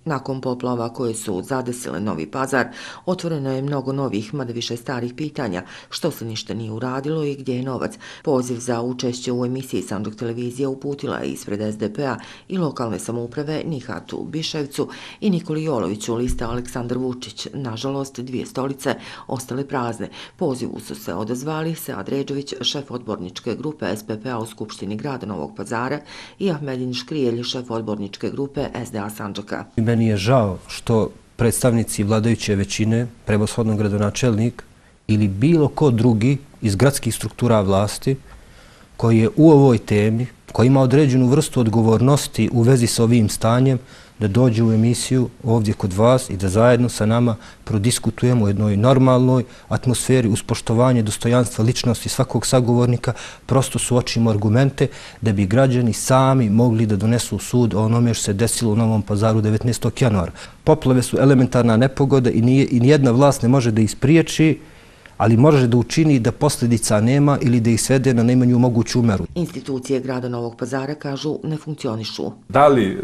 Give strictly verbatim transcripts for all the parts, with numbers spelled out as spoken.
Nakon poplava koje su zadesile Novi Pazar, otvoreno je mnogo novih, mada više starih pitanja, što se ništa nije uradilo i gdje je novac. Poziv za učešće u emisiji Sandžak televizija uputila je ispred es de pe a i lokalne samouprave Nihatu Biševcu i Nikoli Joloviću liste Aleksandar Vučić. Nažalost, dvije stolice ostale prazne. Pozivu su se odazvali Sead Redžević, šef odborničke grupe es pe pe a u Skupštini grada Novog Pazara i Ahmedin Škrijelj, šef odborničke grupe es de a Sandžaka. Meni je žao što predstavnici vladajuće većine, prevashodno gradonačelnik ili bilo ko drugi iz gradskih struktura vlasti koji je u ovoj temi, koji ima određenu vrstu odgovornosti u vezi sa ovim stanjem, da dođe u emisiju ovdje kod vas i da zajedno sa nama prodiskutujemo u jednoj normalnoj atmosferi uz poštovanje dostojanstva ličnosti svakog sagovornika, prosto suočimo argumente da bi građani sami mogli da donesu sud o onome što se desilo u Novom Pazaru devetnaestog januara. Poplave su elementarna nepogoda i nijedna vlast ne može da ispriječi, ali može da učini da posljedica nema ili da ih svede na najmanju moguću meru. Institucije grada Novog Pazara kažu ne funkcionišu. Da li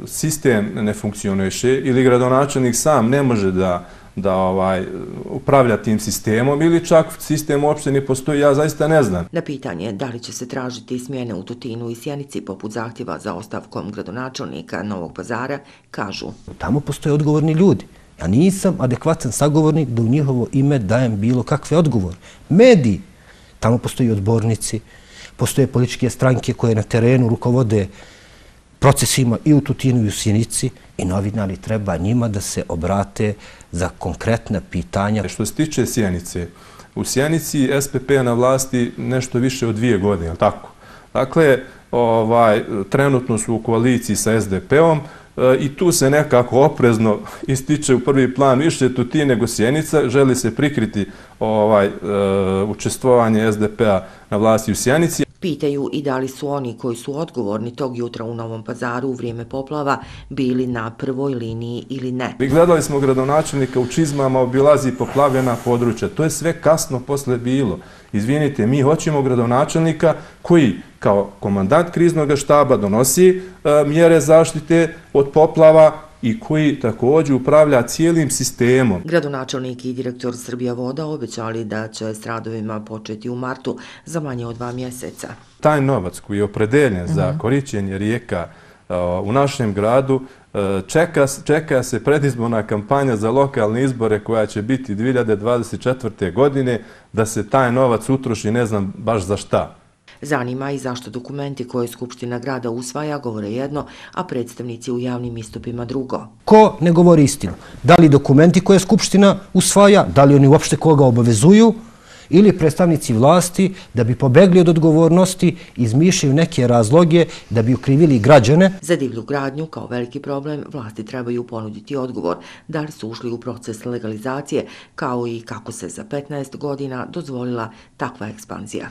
sistem ne funkcioniše ili gradonačelnik sam ne može da da ovaj, upravlja tim sistemom ili čak sistem uopšte ne postoji, ja zaista ne znam. Na pitanje da li će se tražiti smjene u Tutinu i Sjenici poput zahtjeva za ostavkom gradonačelnika Novog Pazara, kažu. Tamo postoje odgovorni ljudi. Ja nisam adekvatan sagovornik da u njihovo ime dajem bilo kakve odgovore. Mediji, tamo postoji odbornici, postoje političke stranke koje na terenu rukovode procesima i u Tutinu i u Sjenici i novinari treba njima da se obrate za konkretna pitanja. Što se tiče Sjenice, u Sjenici es pe pe na vlasti nešto više od dvije godine, tako? Dakle, ovaj, trenutno su u koaliciji sa es de pe om, i tu se nekako oprezno ističe u prvi plan više Tutin nego Sjenica. Želi se prikriti ovaj, učestvovanje es de pe a na vlasti u Sjenici. Pitaju i da li su oni koji su odgovorni tog jutra u Novom Pazaru u vrijeme poplava bili na prvoj liniji ili ne. I gledali smo gradonačelnika u čizmama, obilazi poplavljena područja. To je sve kasno posle bilo. Izvinite, mi hoćemo gradonačelnika koji kao komandant kriznog štaba donosi e, mjere zaštite od poplava i koji također upravlja cijelim sistemom. Gradonačelnik i direktor Srbija voda obećali da će s radovima početi u martu za manje od dva mjeseca. Taj novac koji je opredeljen uh-huh. za korišćenje rijeka uh, u našem gradu, uh, čeka, čeka se predizborna kampanja za lokalne izbore koja će biti dvije hiljade dvadeset četvrte. godine, da se taj novac utroši ne znam baš za šta. Zanima i zašto dokumenti koje Skupština grada usvaja govore jedno, a predstavnici u javnim istupima drugo. Ko ne govori istinu? Da li dokumenti koje Skupština usvaja, da li oni uopšte koga obavezuju, ili predstavnici vlasti da bi pobegli od odgovornosti izmišljaju neke razloge da bi ukrivili građane. Za divlju gradnju kao veliki problem vlasti trebaju ponuditi odgovor da li su ušli u proces legalizacije kao i kako se za petnaest godina dozvolila takva ekspanzija.